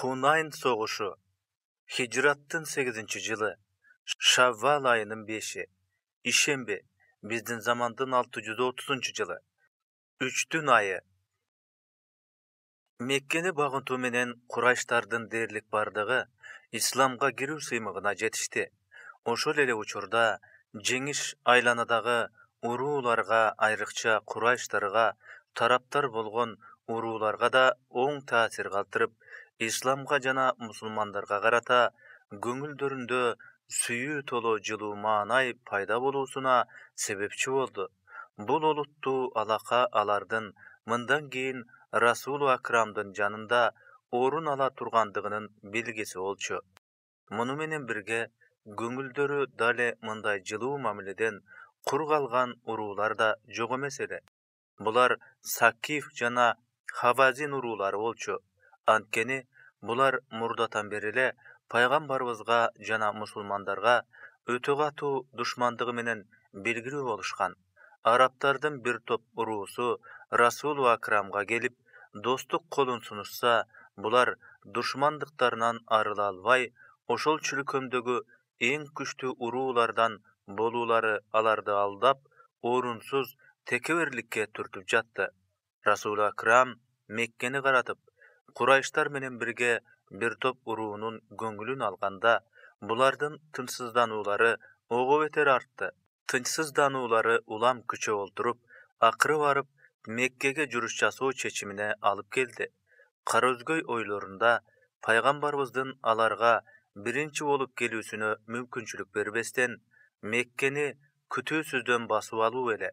Хунайн согушу. Хижраттын 8-жылы. Шаввал айынын 5-и. Ишембе. Биздин замандын 630-жылы. 3-түн айы. Меккени багынтуу менен Курайштардын дээрлик бардыгы исламга кирүү сыймыгына жетишти. Ошол эле учурда жеңиш айланадагы урууларга, айрыкча Курайштарга тараптар болгон урууларга да оң таасир калтырып, исламга жана мусулмандарга карата көңүлдөрүндө сүйүү толо жылуу маанай пайда болуусуна себепчи болду. Бул олуттуу алака алардын мындан кийин Расулу Акрамдын жанында орун ала тургандыгынын белгиси болчу. Муну менен бирге көңүлдөрү дале мындай жылуу мамиледен кур калган уруулар да жок эмес эле. Булар Сакиф жана Хавазин уруулары болчу. Анткени булар мурдатан бери эле пайгамбарыбызга жана мусулмандарга өтө катуу душмандыгы менен белгилүү болушкан. Арабтардын бир топ уруусу Расулу Акрамга келип, достук колун сунушса, булар душмандыктарынан арыла албай, ошол чүркөмдөгү эң күчтүү уруулардан болуулары аларды алдап, орунсуз текеберликке түртүп жатты. Расулу Акрам Меккени каратып, Курайштар менен бирге бир топ уруунун көңүлүн алганда, булардын тынчсыздануулары ого бетер артты. Тынчсыздануулары улам күчөп олтуруп, акыры барып Меккеге жүрүш жасоо чечимине алып келди. Караөзгөй ойлорунда пайгамбарыбыздын аларга биринчи болуп келүүсүнө мүмкүнчүлүк бербестен, Меккени күтүүсүздөн басып алуу эле.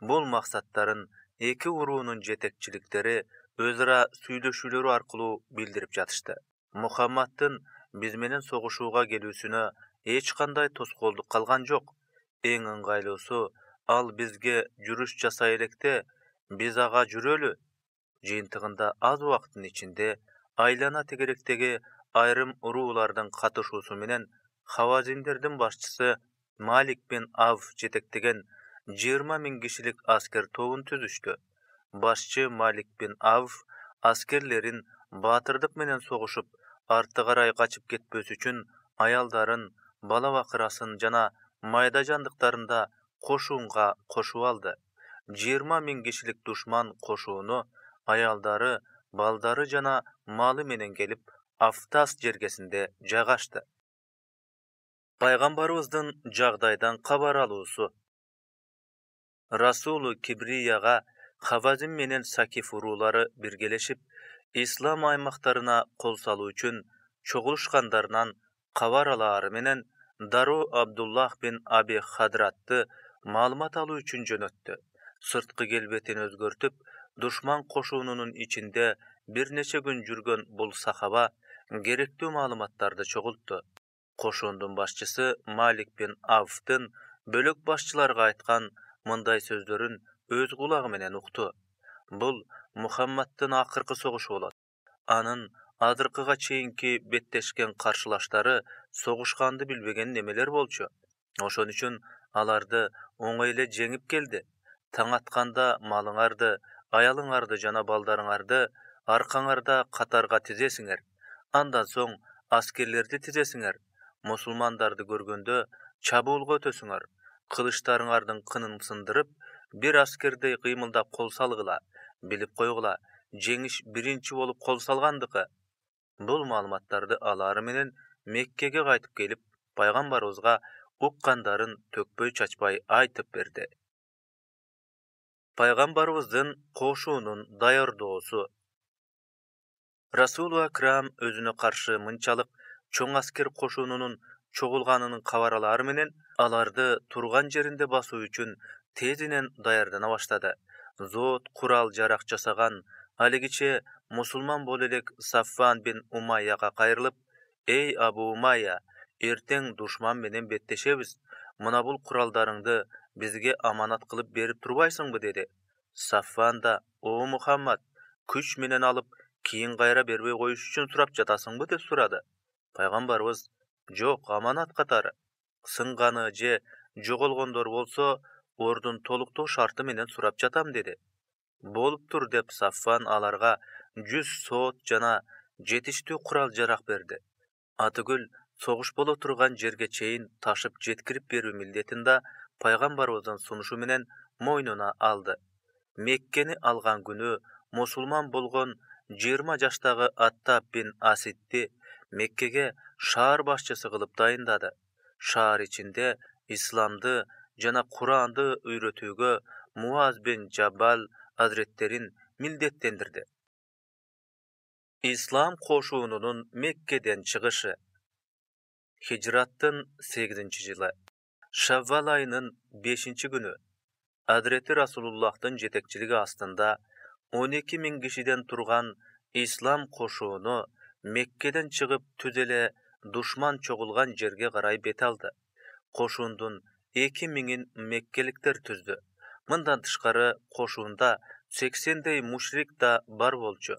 Бул максаттарын эки уруунун жетекчиликтери өз ара сүйлөшүүлөрү аркылуу билдирип жатышты. Мухаммаддын биз менен согушууга келүүсүнө эч кандай тоскоолдук калган жок. Эң ыңгайлуусу, ал бизге жүрүш жасай электе, биз ага жүрөлү. Жыйынтыгында аз убакыттын ичинде айлана тегеректеги айрым уруулардын катышуусу менен Хавазиндердин башчысы Малик бин Авф жетектеген 20 000 кишилик аскер тобун түзүштү. Башчы Малик бин Авф аскерлерин баатырдык менен согушуп, артты карай качып кетпөс үчүн аялдарын, бала бакырасын жана майда жандыктарын да кошуунга кошуп алды. 20 000 кишилик душман кошууну аялдары, балдары жана малы менен келип, Афтас жергесинде жайгашты. Пайгамбарыбыздын жагдайдан кабар алуусу. Расулу Кибрияга Хавазин менен Сакиф уруулары биргелешип, ислам аймактарына кол салуу үчүн чогулушкандарынан кабар алаары менен дароо Абдуллах бин Аби Хадратты маалымат алуу үчүн жөнөттү. Сырткы келбетин өзгөртүп, душман кошуунунун ичинде бир нече күн жүргөн бул сахаба керектүү маалыматтарды чогултту. Кошуундун башчысы Малик бин Авфтын бөлөк башчыларга айткан мындай сөздөрүн өз кулагы менен укту. Бул Мухаммаддын акыркы согушу болот. Анын азыркыга чейинки беттешкен каршылаштары согушканды билбеген немелер болчу. Ошон үчүн аларды оңой эле жеңип келди. Таң атканда малыңарды, аялыңарды жана балдарыңарды аркаңарда катарга тизесиңер. Андан соң аскерлерди тизесиңер. Мусулмандарды көргөндө чабуулга өтөсүңөр. Кылычтарыңардын кынын сындырып, бир аскердей кыймылдап кол салгыла. Билип койгула, жеңиш биринчи болуп кол салгандыкы. Бул маалыматтарды алаары менен Меккеге кайтып келип, пайгамбарыбызга уккандарын төкпөй чачпай айтып берди. Пайгамбарыбыздын кошуунун даярдоосу. Расулу Акрам өзүнө каршы мынчалык чоң аскер кошуунунун чогулганынын кабар алаары менен аларды турган жеринде басуу үчүн тезинен даярдана баштады. Зоот курал жарак жасаган алигиче мусулман боло элек Сафван бин Умайяга кайрылып: "Эй Абу Умайя, эртең душман менен беттешебиз. Мына бул куралдарыңды бизге аманат кылып берип турбайсыңбы?" деди. Сафван да: "О Мухаммад, күч менен алып, кийин кайра бербей коюш үчүн сурап жатасыңбы?" деп сурады. Пайгамбарыбыз: "Жок, аманат катары. Сынганы же жоголгондор болсо, ордун толуктоо шарты менен сурап жатам" деди. "Болуптур" деп Сафван аларга 100 соот жана жетиштүү курал жарак берди. Атыгүл согуш боло турган жерге чейин ташып жеткирип берүү милдетин да пайгамбарыбыздын сунушу менен мойнуна алды. Меккени алган күнү мусулман болгон 20 жаштагы Аттаб бин Асидди Меккеге шаар башчысы кылып дайындады. Шаар ичинде исламды жана Куранды үйрөтүүгө Муаз бин Жаббал азреттерин милдеттендирди. Ислам кошуунунун Меккеден чыгышы. Хижраттын 8-жылы Шаввал айынын 5-күнү Азрети Расулуллахтын жетекчилиги астында 12 000 кишиден турган ислам кошууну Меккеден чыгып түз эле душман чогулган жерге карай бет алды. Кошуундун 2 000-ин меккеликтер түздү. Мындан тышкары кошуунда 80дей мушрик да бар болчу.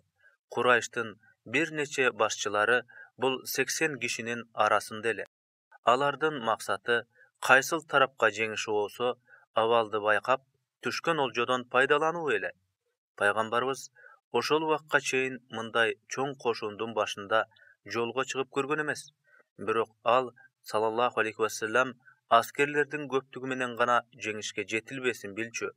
Курайштын бир нече башчылары бул 80 кишинин арасында эле. Алардын максаты кайсыл тарапка жеңиши болсо, абалды байкап, түшкөн олжодон пайдалануу эле. Пайгамбарыбыз ошол убакка чейин мындай чоң кошуундун башында жолго чыгып көргөн эмес. Бирок ал саллаллаху алейхи вассалам аскерлердин көптүгү менен гана жеңишке жетилбесин билчү.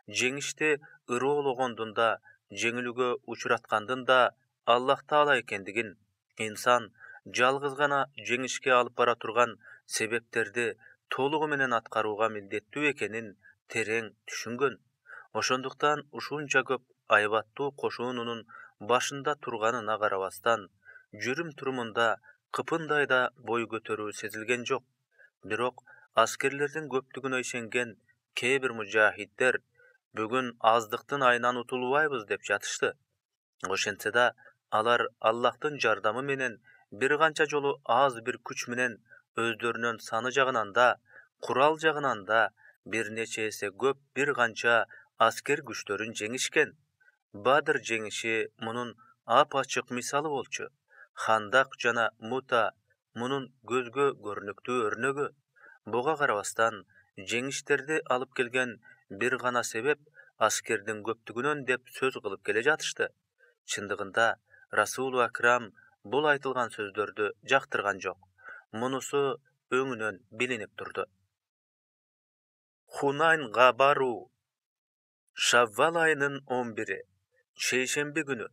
Жеңишти ырыологондун да, жеңилүүгө учураткандын да Аллах Таала экендигин, инсан жалгыз гана жеңишке алып бара турган себептерди толугу менен аткарууга милдеттүү экенин терең түшүнгөн. Ошондуктан ушунча көп айбаттуу кошуунунун башында турганына карабастан, жүрүм-турумунда кыпындай да бой көтөрүү сезилген жок. Бирок аскерлердин көптүгүнө ишенген кээ бир мужахиддер бүгүн аздыктын айынан утулбайбыз деп жатышты. Ошентсе да, алар Аллахтын жардамы менен бир канча жолу аз бир күч менен өздөрүнүн саны жагынан да, курал жагынан да бир нече эсе көп бир канча аскер күчтөрүн жеңишкен. Бадыр жеңиши мунун ап-ачык мисалы болчу. Хандак жана Мута мунун көзгө көрүнүктүү өрнөгү. Буга карабастан, жеңиштерди алып келген бир гана себеп аскердин көптүгүнөн деп сөз кылып келе жатышты. Чындыгында Расулу Акрам бул айтылган сөздөрдү жактырган жок. Мунусу өңүнөн билинип турду. Хунайнга баруу. Шаввал айынын 11-и, шейшемби күнү.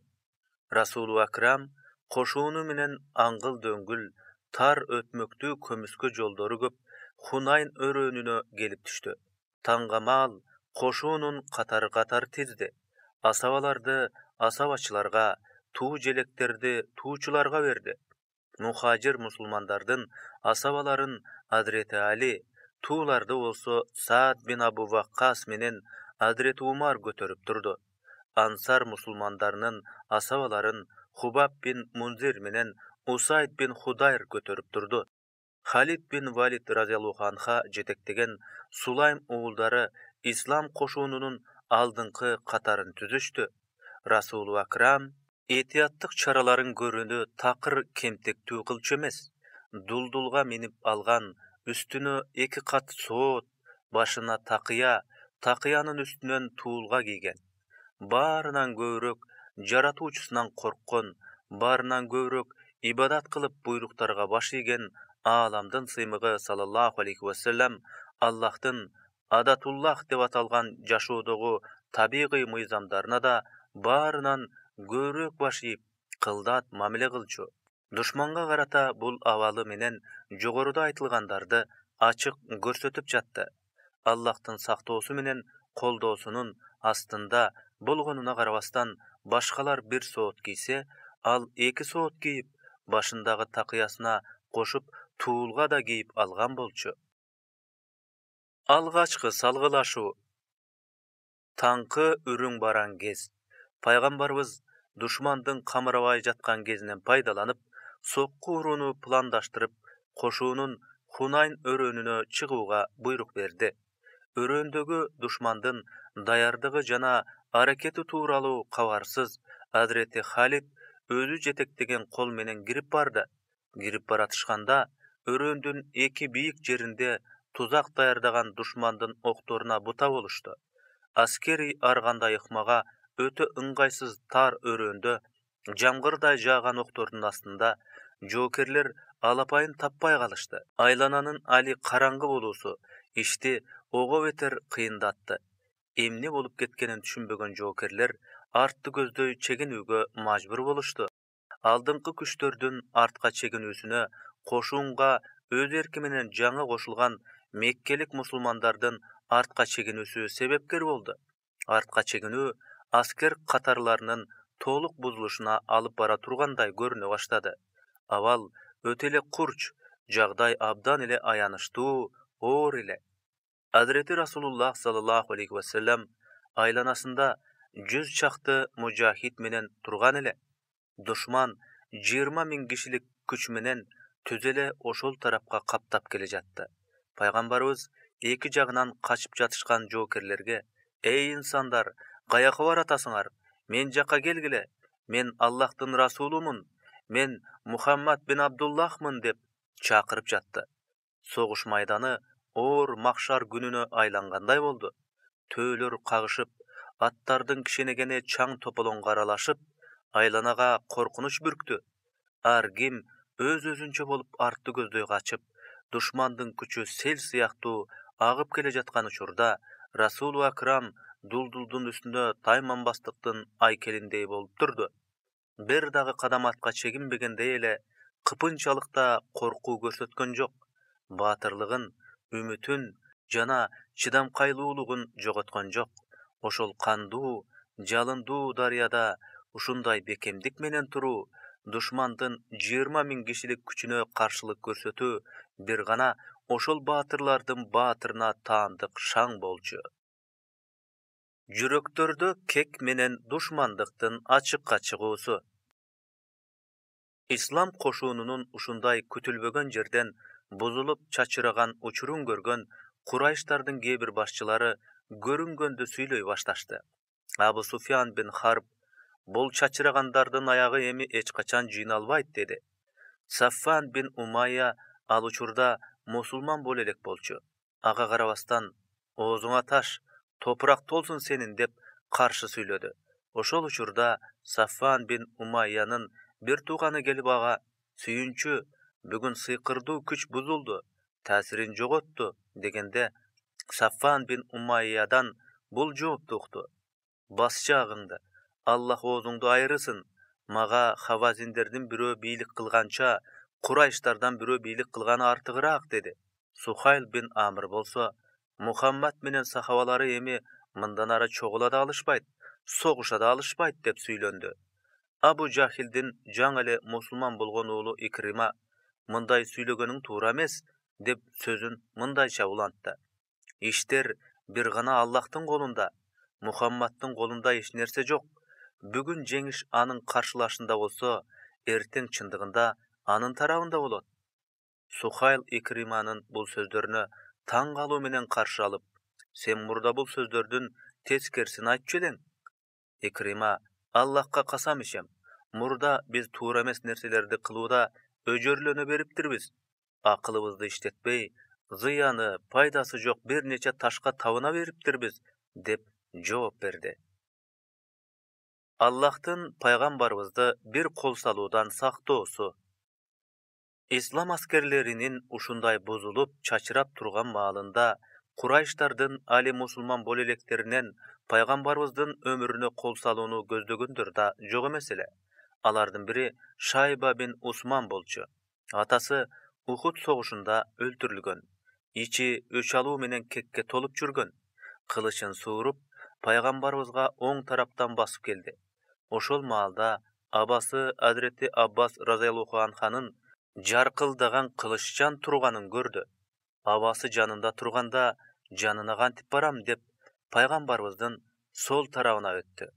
Расулу Акрам кошууну менен аңгыл дөңгүл, тар өтмөктүү көмүскө жолдору көп Хунайн өрөөнүнө келип түштү. Таңгамаал кошуунун катары тизди. Асабаларды асабачыларга, туу желектерди туучуларга берди. Мухажир мусулмандардын асабаларын Азрети Али, тууларды болсо Саад бин Абу Ваккас менен Азрети Умар көтөрүп турду. Ансар мусулмандарынын асабаларын Хубаб бин Мунзир менен Усайд бин Худайр көтөрүп турду. Халид бин Валид разияллаху анха жетектеген Сулайм уулдары ислам кошуунунун алдыңкы катарын түзүштү. Расулу Акрам этияттык чараларын көрүүнү такыр кемтектүү кылчу эмес. Дулдулга минип алган, үстүнө 2 кат соот, башына такыя, такыянын үстүнөн туулга кийген. Баарынан көбүрөөк жаратуучусунан корккон, баарынан көбүрөөк ибадат кылып буйруктарга баш ийген ааламдын сыймыгы саллаллаху алейхи вассалам Аллахтын Адатуллах деп аталган жашоодогу табигый мыйзамдарына да баарынан көбүрөөк баш ийип, кылдат мамиле кылчу. Душманга карата бул абалы менен жогоруда айтылгандарды ачык көрсөтүп жатты. Аллахтын сактоосу менен колдоосунун астында болгонуна карабастан, башкалар 1 соот кийсе, ал 2 соот кийип, башындагы такыясына кошуп туулга да кийип алган болчу. Алгачкы салгылашуу. Таңкы үрүң баран кез. Пайгамбарыбыз душмандын камырабай жаткан кезинен пайдаланып, сокку урууну пландаштырып, кошуунун Хунайн өрөөнүнө чыгууга буйрук берди. Өрөөндөгү душмандын даярдыгы жана аракети тууралуу кабарсыз Азрети Халид өзү жетектеген кол менен кирип барды. Кирип баратышканда, өрөөндүн 2 бийик жеринде тузак даярдаган душмандын окторуна бута болушту. Аскери ар кандай ыкмага өтө ыңгайсыз тар өрөөндө Жамгырдай жааган октордун астында жоокерлер алапайын таппай калышты. Айлананын али караңгы болуусу ишти ого бетер кыйындатты. Эмне болуп кеткенин түшүнбөгөн жоокерлер артты көздөй чегинүүгө мажбур болушту. Алдыңкы күчтөрдүн артка чегинүүсүнө кошуунга өз эрки менен жаңы кошулган меккелик мусулмандардын артка чегинүүсү себепкер болду. Артка чегинүү аскер катарларынын толук бузулушуна алып бара тургандай көрүнө баштады. Абал өтө эле курч, жагдай абдан эле аянычтуу, оор эле. Азирети Расулуллах саллаллаху алейхи вассалам айланасында 100 чакты мужахид менен турган эле. Душман 20 000 кишилик күч менен түз эле ошол тарапка каптап келе жатты. Пайгамбарыбыз эки жагынан качып жатышкан жоокерлерге: "Эй инсандар, каяка баратасыңар? Мен жакка келгиле. Мен Аллахтын расулумун. Мен Мухаммад бин Абдуллахмын" деп чакырып жатты. Согуш майданы оор махшар күнүнө айлангандай болду. Төөлөр кагышып, аттардын кишенегени чаң тополоңго аралашып, айланага коркунуч бүрктү. Ар ким өз-өзүнчө болуп артты көздөй качып, душмандын күчү сел сыяктуу агып келе жаткан учурда Расулу Акрам дулдулдун үстүндө тайманбастыктын айкелиндей болуп турду. Бир дагы кадам артка чегинбегендей эле кыпынчалык да коркуу көрсөткөн жок. Баатырлыгын, үмүтүн жана чыдамкайлуулугун жоготкон жок. Ошол кандуу, жалындуу дарыяда ушундай бекемдик менен туруу, душмандын 20 000 кишилик күчүнө каршылык көрсөтүү бир гана ошол баатырлардын баатырына таандык шаң болчу. Жүрөктөрдө кек менен душмандыктын ачыкка чыгуусу. Ислам кошуунунун ушундай күтүлбөгөн жерден бузулуп чачыраган учурун көргөн Курайштардын кээ бир башчылары көрүнгөндү сүйлөй башташты. Абу Суфьян бин Харб: "Бул чачырагандардын аягы эми эч качан жыйналбайт" деди. Саффан бин Умайя ал учурда мусулман боло элек болчу. Ага карабастан: "Оозуңа таш, топурак толсун сенин" деп каршы сүйлөдү. Ошол учурда Саффан бин Умайянын бир тууганы келип ага: "Сүйүнчү, бүгүн сыйкырдуу күч бузулду, таасирин жоготту" дегенде, Саффан бин Умайядан бул жоопту укту: "Бас жаагыңды, Аллах оозуңду айырысын. Мага хавазиндердин бирөө бийлик кылганча, Курайштардан бирөө бийлик кылганы артыгыраак" деди. Сухайл бин Амр болсо: "Мухаммад менен сахабалары эми мындан ары чогула да алышпайт, согуша да алышпайт" деп сүйлөндү. Абу Жахилдин жаңы эле мусулман болгон уулу Икрима: "Мындай сүйлөгөнүң туура эмес" деп сөзүн мындайча улантты: "Иштер бир гана Аллахтын колунда, Мухаммадтын колунда эч нерсе жок. Бүгүн жеңиш анын каршылашында болсо, эртең чындыгында анын тарабында болот." Сухайл Икриманын бул сөздөрүнө таң калуу менен каршы алып: "Сен мурда бул сөздөрдүн тескерисин айтчу элең." Икрима: "Аллахка касам ичем, мурда биз туура эмес нерселерди кылууда өжөрлөнө бериптирбиз. Акылыбызды иштетпей, зыяны, пайдасы жок бир нече ташка табына бериптирбиз" деп жооп берди. Аллахтын пайгамбарыбызды бир кол салуудан сактоосу. Ислам аскерлеринин ушундай бузулуп, чачырап турган маалында Курайштардын али мусулман боло электеринен пайгамбарыбыздын өмүрүнө кол салууну көздөгөндөр да жок эмес эле. Алардын бири Шайба бин Усман болчу. Атасы Ухуд согушунда өлтүрүлгөн. Ичи өч алуу менен кекке толуп жүргөн. Кылычын сууруп, пайгамбарыбызга оң тараптан басып келди. Ошол маалда абасы Азирети Аббас разияллаху анханын жаркылдаган кылыччан турганын көрдү. Абасы жанында турганда, жанына кантип барам деп пайгамбарыбыздын сол тарабына өттү.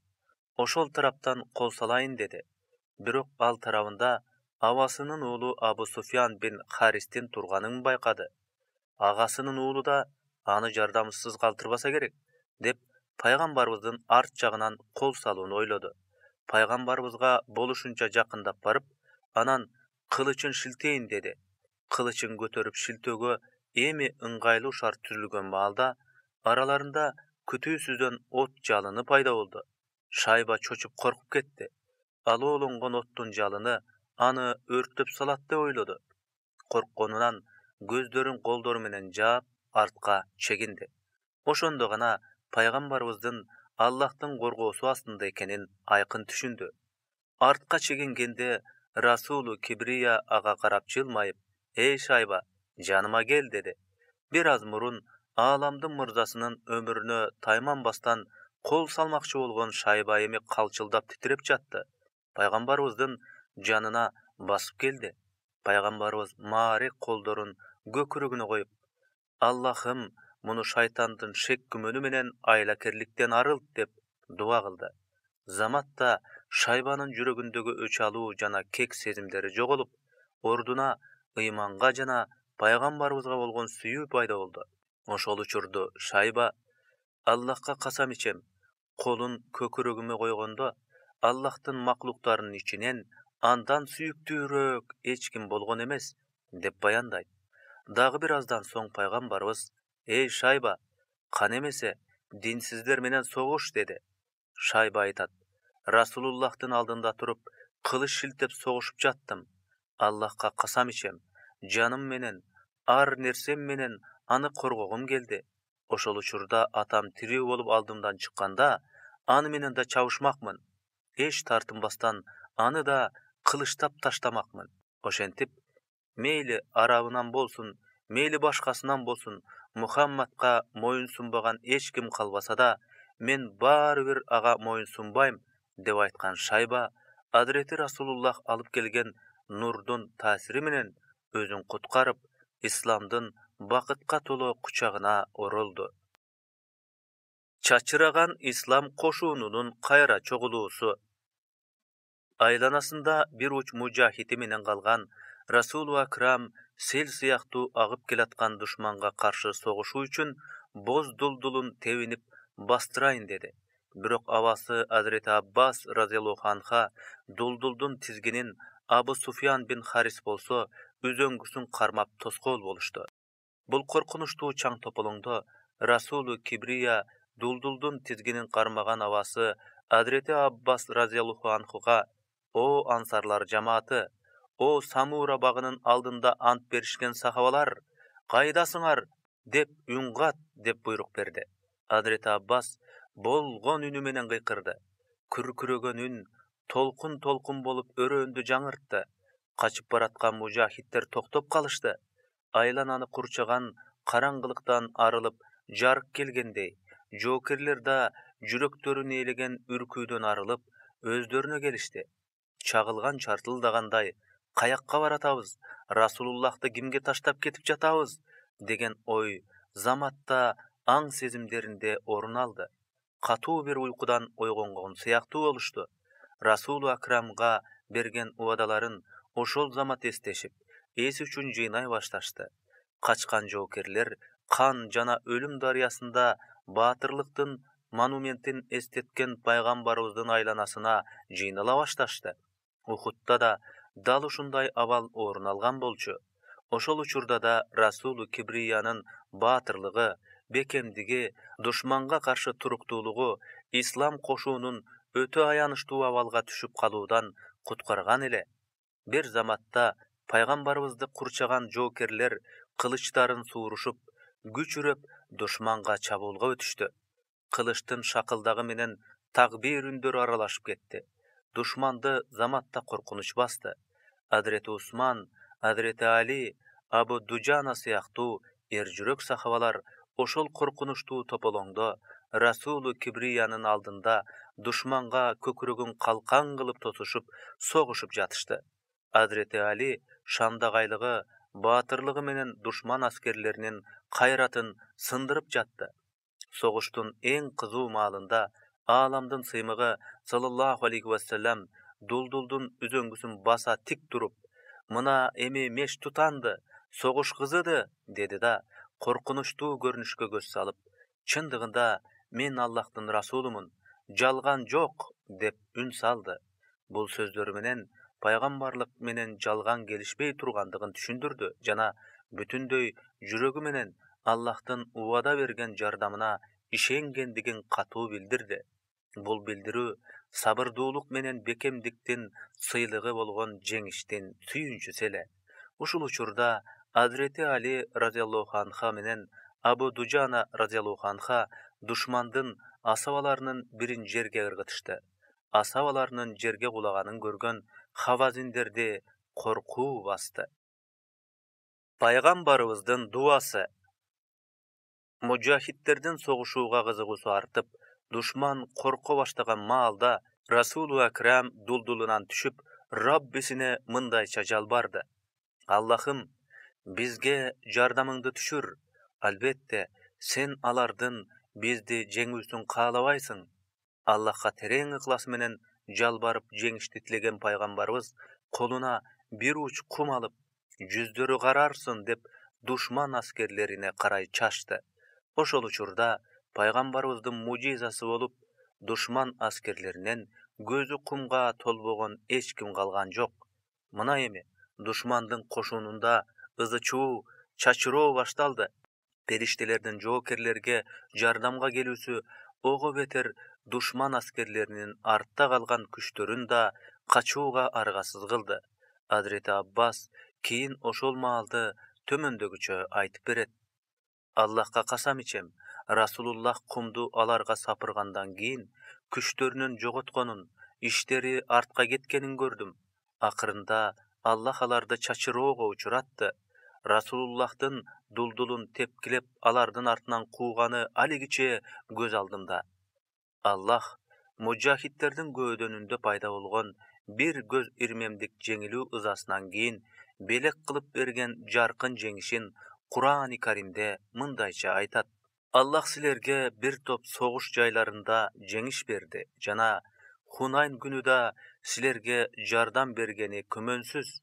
Ошол тараптан кол салайын деди. Бирок ал тарабында абасынын уулу Абу Суфьян бин Харистин турганын байкады. Агасынын уулу да аны жардамсыз калтырбаса керек деп пайгамбарыбыздын арт жагынан кол салууну ойлоду. Пайгамбарыбызга болушунча жакындап барып, анан кылычын шилтейин деди. Кылычын көтөрүп шилтөөгө эми ыңгайлуу шарт түзүлгөн маалда араларында күтүүсүздөн от жалыны пайда болду. Шайба чочуп коркуп кетти. алоолонгон оттун жалыны аны өрттөп салат деп ойлоду. Коркконунан көздөрүн колдору менен жаап, артка чегинди. Ошондо гана пайгамбарыбыздын Аллахтын коргоосу астында экенин айкын түшүндү. Артка чегингенде Расулу Кибрия ага карап жылмайып, "Эй Шайба, жаныма кел" деди. Бир аз мурун ааламдын мырзасынын өмүрүнө тайманбастан кол салмакчы болгон Шайба эми калчылдап титиреп жатты. Пайгамбарыбыздын жанына басып келди. Пайгамбарыбыз маарек колдорун көкүрөгүнө коюп, "Аллахым, муну шайтандын шек күмөнү менен айлакерликтен арылт" деп дуа кылды. Заматта Шайбанын жүрөгүндөгү өч алуу жана кек сезимдери жоголуп, ордуна ыйманга жана пайгамбарыбызга болгон сүйүү пайда болду. Ошол учурду Шайба: "Аллахка касам ичем, колун көкүрөгүмө койгондо Аллахтын маклуктарынын ичинен андан сүйүктүүрөөк эч ким болгон эмес" деп баяндайт. Дагы бир аздан соң пайгамбарыбыз: "Эй Шайба, кан эмесе динсиздер менен согуш" деди. Шайба айтат: "Расулуллахтын алдында туруп, кылыч шилтеп согушуп жаттым. Аллахка касам ичем, жаным менен, ар нерсем менен аны коргогум келди. Ошол учурда атам тирүү болуп алдымдан чыкканда, аны менен да чабышмакмын. Эч тартынбастан аны да кылычтап таштамакмын. Ошентип, мейли арабынан болсун, мейли башкасынан болсун, Мухаммадка моюн сунбаган эч ким калбаса да, мен баары бир ага моюн сунбайм" деп айткан Шайба Адрети Расулуллах алып келген нурдун таасири менен өзүн куткарып, исламдын бакытка толо кучагына оролду. Чачыраган ислам кошунунун кайра чогулуусу. Айланасында бир уч мужахити менен калган Расулу Акрам сел сыяктуу агып келаткан душманга каршы согушуу үчүн боз дулдулун тебинип бастырайын деди. Бирок абасы Азирети Аббас разияллаху анха дулдулдун тизгинин Абу Суфьян бин Харис болсо үзөңгүсүн кармап тоскоол болушту. Бул коркунучтуу чаң тополоңдо Расулу Кибрия дулдулдун тизгинин кармаган абасы Азирети Аббас разияллаху анхуга: "О ансарлар жамааты, о Самура багынын алдында ант беришкен сахабалар, кайдасыңар?" деп үн кат деп буйрук берди. Азирети Аббас болгон үнү менен кыйкырды. Күркүрөгөн үн толкун болуп өрөөндү жаңыртты. Качып бараткан мужахиттер токтоп калышты. Айлананы курчаган караңгылыктан арылып жарык келгендей, жоокерлер да жүрөктөрүн ээлеген үркүүдөн арылып, өздөрүнө келишти. Чагылган чартылдагандай: "Каякка баратабыз? Расулуллахты кимге таштап кетип жатабыз?" деген ой заматта аң сезимдеринде орун алды. Катуу бир уйкудан ойгонгон сыяктуу болушту. Расулу Акрамга берген убадаларын ошол замат эстешип, эси үчүн жыйнай башташты. Качкан жоокерлер кан жана өлүм дарыясында баатырлыктын монументин эстеткен пайгамбарыбыздын айланасына жыйнала башташты. Ухудда да дал ушундай абал орун алган болчу. Ошол учурда да Расулу Кибриянын баатырлыгы, бекемдиги, душманга каршы туруктуулугу ислам кошуунун өтө аянычтуу абалга түшүп калуудан куткарган эле. Бир заматта пайгамбарыбызды курчаган жоокерлер кылычтарын суурушуп, күчүрөп душманга чабуулга өтүштү. Кылычтын шакылдагы менен такбир үндөрү аралашып кетти. Душманды заматта коркунуч басты. Азирети Усман, Азирети Али, Абу Дуджана сыяктуу эр жүрөк сахабалар ошол коркунучтуу тополоңдо Расулу Кибриянын алдында душманга көкүрөгүн калкан кылып тосушуп, согушуп жатышты. Азирети Али шандагайлыгы, баатырлыгы менен душман аскерлеринин кайратын сындырып жатты. Согуштун эң кызуу маалында ааламдын сыймыгы саллаллаху алейхи вассалам дулдулдун үзөңгүсүн баса тик туруп: "Мына эми меш тутанды, согуш кызыды" деди да, коркунучтуу көрүнүшкө көз салып: "Чындыгында мен Аллахтын расулумун, жалган жок" деп үн салды. Бул сөздөрү менен пайгамбарлык менен жалган келишпей тургандыгын түшүндүрдү жана бүтүндөй жүрөгү менен Аллахтын убада берген жардамына ишенгендигин катуу билдирди. Бул билдирүү сабырдуулук менен бекемдиктин сыйлыгы болгон жеңиштин сүйүнчүсү эле. Ушул учурда Азирети Али радиаллаху анха менен Абу Дуджана радиаллаху анха душмандын асабаларынын бирин жерге ыргытышты. Асабаларынын жерге кулаганын көргөн хавазиндерди коркуу басты. Пайгамбарыбыздын дуасы. Мужахидтердин согушууга кызыгуусу артып, душман корко баштаган маалда Расулу Акрам дулдулунан түшүп, Раббисине мындайча жалбарды: Аллахым, бизге жардамыңды түшүр. Албетте, сен алардын бизди жеңүүсүн каалабайсың. Аллахка терең ыклас менен жалбарып жеңишти тилеген пайгамбарыбыз колуна бир уч кум алып, жүздөрү карарсын деп душман аскерлерине карай чачты. Ошол учурда пайгамбарыбыздын мужизасы болуп, душман аскерлеринен көзү кумга толбогон эч ким калган жок. Мына эми душмандын кошунунда ызы-чуу, чачыроо башталды. Периштелердин жоокерлерге жардамга келүүсү ого бетер душман аскерлеринин артта калган күчтөрүн да качууга аргасыз кылды. Азирети Аббас кийин ошол маалды төмөндөгүчө айтып берет: Аллахка касам ичем, Расулуллах кумду аларга сапыргандан кийин күчтөрүнүн жоготконун, иштери артка кеткенин көрдүм. Акырында Аллах аларды чачыроого учуратты. Расулуллахтын дулдулун тепкилеп алардын артынан кууганы алигиче көз алдымда. Аллах мужахидтердин көөдөнүндө пайда болгон бир көз ирмемдик жеңилүү ызасынан кийин белек кылып берген жаркын жеңишин Кур'ан-ы Каримде мындайча айтат: Аллах силерге бир топ согуш жайларында жеңиш берди жана Хунайн күнүдө силерге жардам бергени күмөнсүз.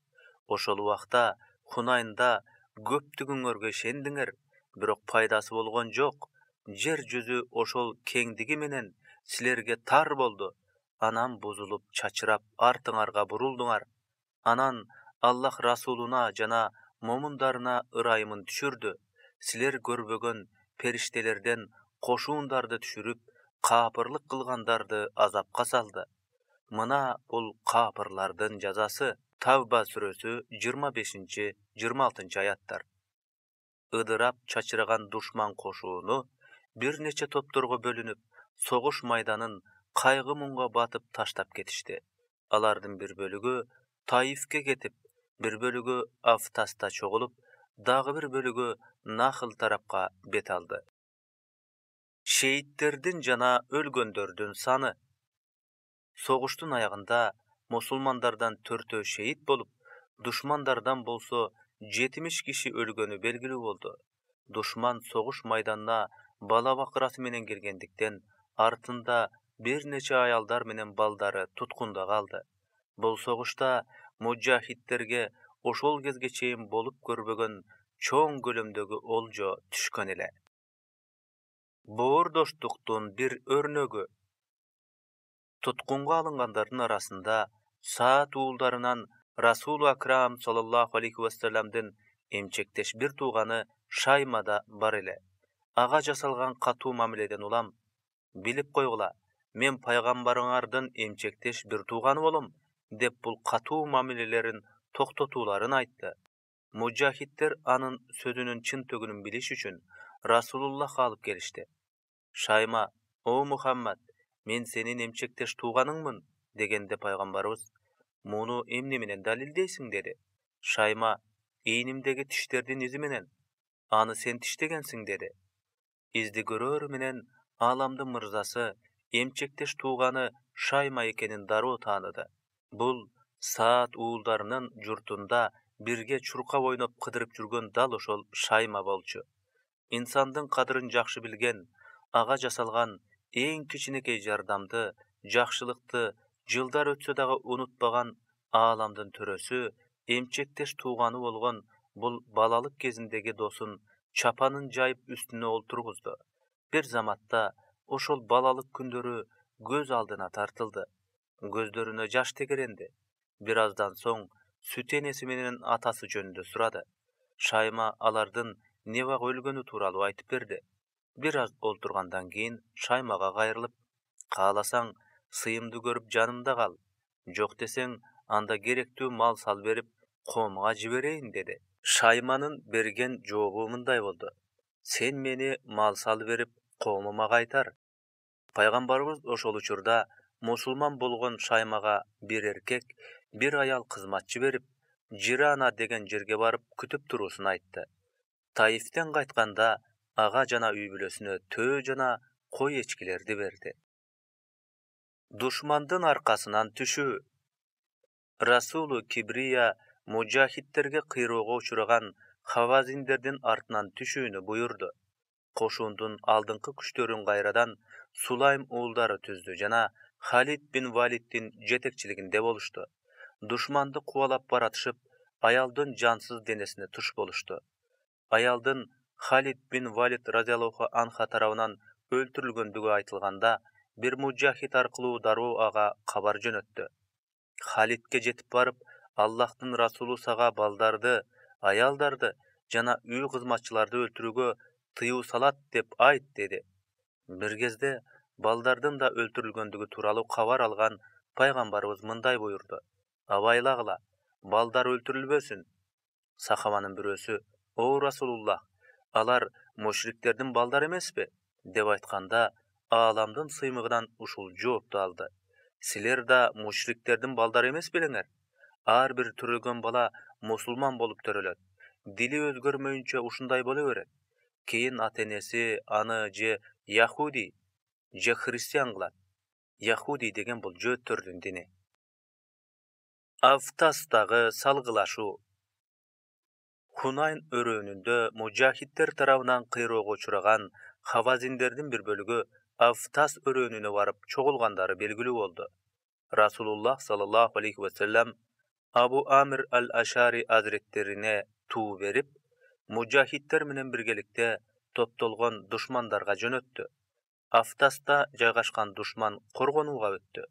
Ошол убакта Хунайнда көптүгүңөргө ишендиңер, бирок пайдасы болгон жок. Жер жүзү ошол кеңдиги менен силерге тар болду. Анан бузулуп, чачырап, артыңарга бурулдуңар. Анан Аллах Расулуна жана момундарына ырайымын түшүрдү. Силер көрбөгөн периштелерден кошуундарды түшүрүп, каапырлык кылгандарды азапка салды. Мына бул каапырлардын жазасы. Тавба сүрөсү 25-26 аяттар. Ыдырап чачыраган душман кошууну бир нече топторго бөлүнүп, согуш майданын кайгы муңга батып таштап кетишти. Алардын бир бөлүгү Таифке кетип, бир бөлүгү Афтаста чогулуп, дагы бир бөлүгү Нахл тарапка бет алды. Шейттердин жана өлгөндөрдүн саны. Согуштун аягында мусулмандардан 4 шейит болуп, душмандардан болсо 70 киши өлгөнү белгилүү болду. Душман согуш майданына бала бакырасы менен келгендиктен, артында бир нече аялдар менен балдары туткунда калды. Бул согушта мужахидтерге ошол кезге чейин болуп көрбөгөн чоң көлөмдөгү олжо түшкөн эле. Боордоштуктун бир өрнөгү. Туткунга алынгандардын арасында Саат уулдарынан Расулу Акрам саллаллаху алейхи вассаламдын эмчектеш бир тууганы Шаймада бар эле. Ага жасалган катуу мамиледен улам: билип койгула, мен пайгамбарыңардын эмчектеш бир тууганы болом, деп бул катуу мамилелерин токтотууларын айтты. Мужахидтер анын сөзүнүн чын төгүнүн билиш үчүн Расулуллахка алып келишти. Шайма: О Мухаммад, мен сенин эмчектеш тууганыңмын, дегенде пайгамбарыбыз: муну эмне менен далилдейсиң, деди. Шайма: ийнимдеги тиштердин изи менен. Аны сен тиштегенсиң, деди. Изди көрөр менен ааламдын мырзасы эмчектеш тууганы Шайма экенин дароо тааныды. Бул Саат уулдарынын журтунда бирге чуркап ойноп кыдырып жүргөн дал ошол Шайма болчу. Инсандын кадырын жакшы билген, ага жасалган эң кичинекей жардамды, жакшылыкты жылдар өтсө дагы унутпаган ааламдын төрөсү, эмчектеш тууганы болгон бул балалык кезиндеги досун чапанын жайып үстүнө олтургузду. Бир заматта ошол балалык күндөрү көз алдына тартылды. Көздөрүнө жаш тегеренди. Бир аздан соң сүт энеси менен атасы жөнүндө сурады. Шайма алардын небак өлгөнү тууралуу айтып берди. Бир аз олтургандан кийин Шаймага кайрылып: кааласаң, сыйымды көрүп жанымда кал. Жок десең, анда керектүү мал сал берип, коомга жиберейин деди. Шайманын берген жообу мындай болду: сен мени мал сал берип, коомума кайтар. Пайгамбарыбыз ошол учурда мусулман болгон Шаймага бир эркек, бир аял кызматчы берип, Жирана деген жерге барып күтүп туруусун айтты. Таифтен кайтканда ага жана үй бүлөсүнө төө жана кой эчкилерди берди. Душмандын аркасынан түшүү. Расулу Кибрия мужахидтерге кыйроого учураган хавазиндердин артынан түшүүнү буйрду. Кошундун алдыңкы күчтөрүн кайрадан Сулайм уулдары түздү жана Халид бин Валиддин жетекчилигинде болушту. Душманды кубалап баратышып, аялдын жансыз денесине туш болушту. Аялдын Халид бин Валид разияллаху анха тарабынан өлтүрүлгөндүгү айтылганда, бир мужахид аркылуу дароо ага кабар жөнөттү. Халидке жетип барып, Аллахтын расулу сага балдарды, аялдарды жана үй кызматчыларды өлтүрүүгө тыюу салат деп айт деди. Бир кезде балдардын да өлтүрүлгөндүгү тууралуу кабар алган пайгамбарыбыз мындай буйрду: абайлагыла, балдар өлтүрүлбөсүн. Сахабанын бирөөсү: о Расулуллах, алар мушриктердин балдары эмеспи? Деп айтканда, ааламдын сыймыгынан ушул жоопту алды: силер да мушриктердин балдары эмес белеңер? Ар бир төрөлгөн бала мусулман болуп төрөлөт. Дили өзгөрмөйүнчө ушундай боло берет. Кийин ата-энеси аны же яхуди, же христиан кылат. Яхуди деген бул жөөттөрдүн дини. Автастагы салгылашуу. Хунайн өрөөнүндө мужахидтер тарабынан кыйроого учураган хавазиндердин бир бөлүгү Автас өрөөнүнө барып чогулгандары белгилүү болду. Расулуллах саллаллаху алейхи ва саллям Абу Амир ал-Ашари азиреттерине туу берип, мужахидтер менен биргеликте топтолгон душмандарга жөнөттү. Автаста жайгашкан душман коргонууга өттү.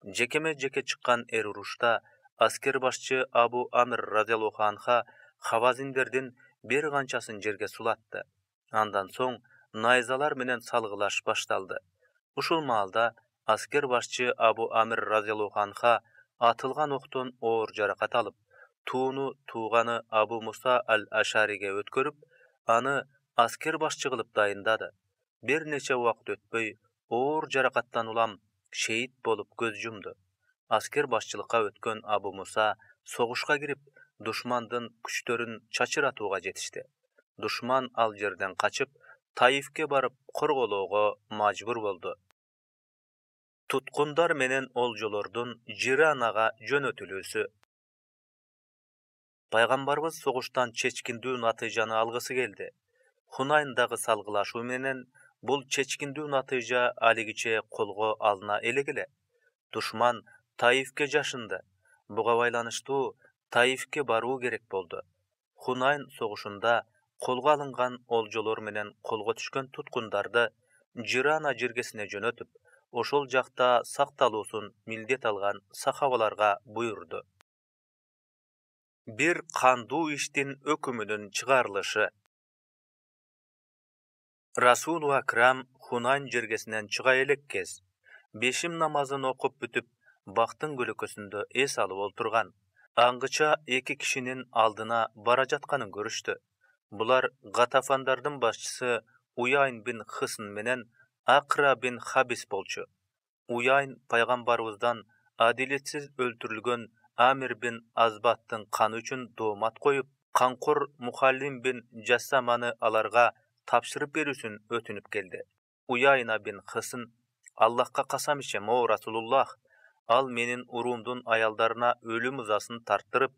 Жекеме-жеке чыккан эр урушта аскер башчы Абу Амир разияллаху анха хавазиндердин бир канчасын жерге сулатты. Андан соң найзалар менен салгылаш башталды. Ушул маалда аскер башчы Абу Амир разияллаху анха атылган октон оор жаракат алып, тууну тууганы Абу Муса ал-Ашариге өткөрүп, аны аскер башчы кылып дайындады. Бир нече убакыт өтпөй, оор жаракаттан улам шейит болуп көз жумду. Аскер башчылыкка өткөн Абу Муса согушка кирип, душмандын күчтөрүн чачыратууга жетишти. Душман ал жерден качып, Таифке барып корголоого мажбур болду. Туткундар менен олжолордун Жиранага жөнөтүлүүсү. Пайгамбарыбыз согуштан чечкиндүү натыйжаны алгысы келди. Хунайндагы салгылашуу менен бул чечкиндүү натыйжа алигиче колго алына элек. Душман Таифке жашынды. Буга байланыштуу Таифке баруу керек болду. Хунайн согушунда колго алынган олжолор менен колго түшкөн туткундарды Жирана жергесине жөнөтүп, ошол жакта сакталуусун милдет алган сахабаларга буйрду. Бир кандуу иштин өкүмүнүн чыгарылышы. Расулу Акрам Хунайн жергесинен чыга элек кез бешим намазын окуп бүтүп, бактын көлөкөсүндө эс алып олтурган. Аңгыча эки кишинин алдына бара жатканын көрүштү. Булар Гатафандардын башчысы Уяйн бин Хысын менен Акра бин Хабис болчу. Уяйн пайгамбарыбыздан адилетсиз өлтүрүлгөн Амир бин Азбаттын каны үчүн доомат коюп, канкор Мухаллим бин Жасаманы аларга тапшырып берүүсүн өтүнүп келди. Уяйна бин Хысын: Аллахка касам ичем, о Расулуллах, ал менин уруумдун аялдарына өлүм ызасын тарттырып,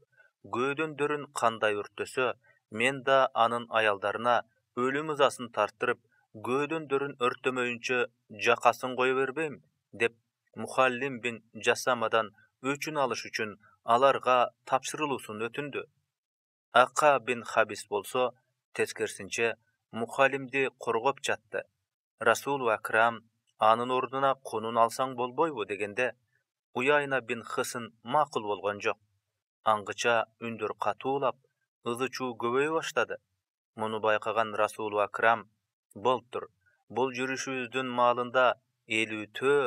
көөдөндөрүн кандай өрттөсө, мен да анын аялдарына өлүм ызасын тарттырып, көөдөндөрүн өрттөмөйүнчө жакасын кое бербейм, деп Мухаллим бин Жасамадан өчүн алыш үчүн аларга тапшырылуусун өтүндү. Ака бин Хабис болсо, тескерисинче, Мухаллимди коргоп жатты. Расулу Акрам анын ордуна конун алсаң болбойбу дегенде, Уяйна бин Хысын макул болгон жок. Аңгыча үндөр катуулап, ызы чуу көбөйө баштады. Муну байкаган Расулу Акрам: болуптур, бул жүрүшүбүздүн маалында 50 төө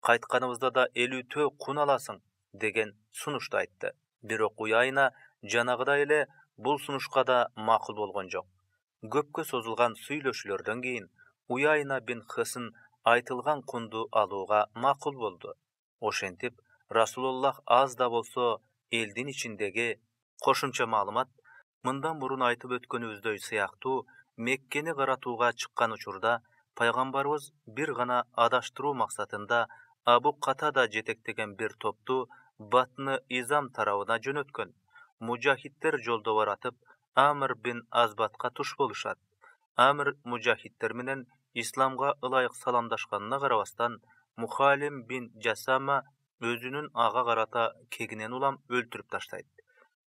кайтканыбызда да 50 кун аласың деген сунушту айтты. Бирок Уяйна жанагыдай эле бул сунушка да макул болгон жок. Көпкө созулган сүйлөшүүлөрдөн кийин Уяйна бин Хысын айтылган кунду алууга макул болду. Ошентип Расулуллах аз да болсо элдин ичиндеги кошумча маалымат мындан мурун айтып өткөнүбүздөй сыяктуу Меккени каратууга чыккан учурда пайгамбарыбыз бир гана адаштыруу максатында Абу Катада жетектеген бир топту Батны Изам тарабына жөнөткөн. Мужахиддер жолдо баратып Амр бин Азбатка туш болушат. Амр мужахиддер менен исламга ылайык саламдашканына карабастан Мухалим бин Жасама өзүнүн ага карата кегинен улам өлтүрүп таштайт.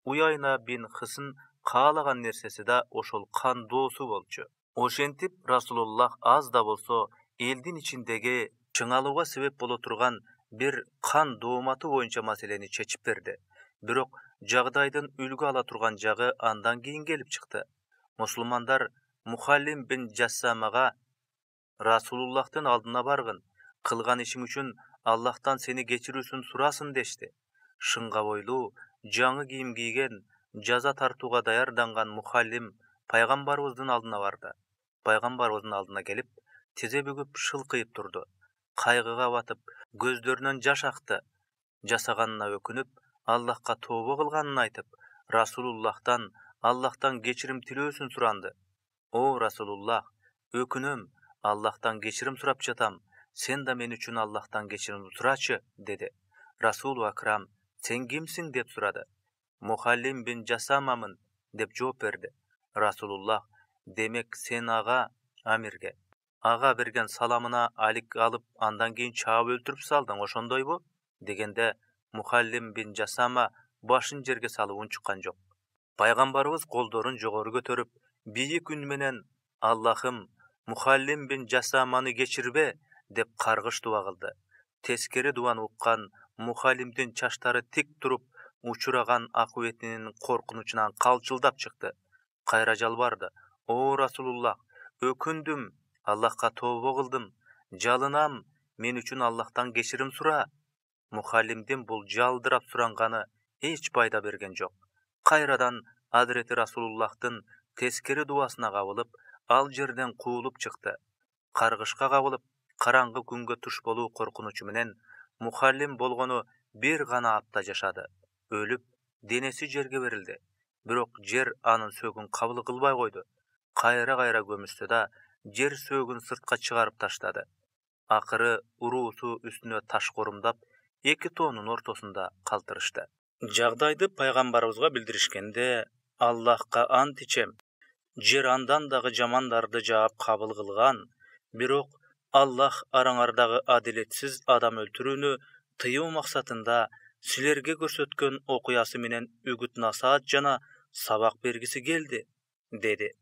Уяйна бин Хысын каалаган нерсеси да ошол кандоосу болчу. Ошентип Расулуллах аз да болсо элдин ичиндеги чыңалууга себеп боло турган бир кан дооматы боюнча маселени чечип берди. Бирок жагдайдын үлгү ала турган жагы андан кийин келип чыкты. Мусулмандар Мухалим бин Жасамага Расулуллахтын алдына баргын, кылган ишиң үчүн Аллахтан сени кечирүүсүн сурасын дешти. Шынга бойлуу, жаңы кийим кийген, жаза тартууга даярданган Мухалим пайгамбарыбыздын алдына барды. Пайгамбарыбыздын алдына келип, тизе бүгүп шылкыйып турду. Кайгыга батып, көздөрүнөн жаш акты. Жасаганына өкүнүп, Аллахка тобо кылганын айтып, Расулуллахтан Аллахтан кечирим тилөөсүн суранды. О Расулуллах, өкүнөм, Аллахтан кечирим сурап жатам. Сен да мен үчүн Аллахтан кечирим сурачы, деди. Расулу Акрам, сен кимсиң деп сурады. Мухаллим бин Жасамамын деп жооп берди. Расулуллах, демек сен ага Амирге ага берген саламына алик алып, андан кийин чаап өлтүрүп салдың, ошондойбу? Дегенде Мухаллим бин Жасама башын жерге салып унчуккан жок. Пайгамбарыбыз колдорун жогору көтөрүп, бийик үн менен Аллахым, Мухаллим бин Жасаманы кечирбе деп каргыш дуба кылды. Тескери дубаны уккан Мухаллимдин чачтары тик туруп, учураган акыбетинин коркунучунан калчылдап чыкты. Кайра жалбарды. О Расулуллах, өкүндүм, Аллахка тобо кылдым, жалынам, мен үчүн Аллахтан кечирим сура. Мухаллимдин бул жалдырап суранганы эч пайда берген жок. Кайрадан Азирети Расулуллахтын тескери дубасына кабылып, ал жерден куулуп чыкты. Каргышка кабылып, караңгы күнгө туш болуу коркунучу менен Мухаллим болгону бир гана апта жашады. Өлүп, денеси жерге берилди. Бирок жер анын сөөгүн кабыл кылбай койду. Кайра көмүстү да, жер сөөгүн сыртка чыгарып таштады. Акыры уруусу үстүнө таш корумдап, эки тоонун ортосунда калтырышты. Жагдайды пайгамбарыбызга билдиришкенде, Аллахка ант ичем, жер андан дагы жамандарды жаап кабыл кылган, бирок Аллах араңардагы адилетсиз адам өлтүрүүнү тыюу максатында силерге көрсөткөн окуясы менен үгүт насаат жана сабак бергиси келди, деди.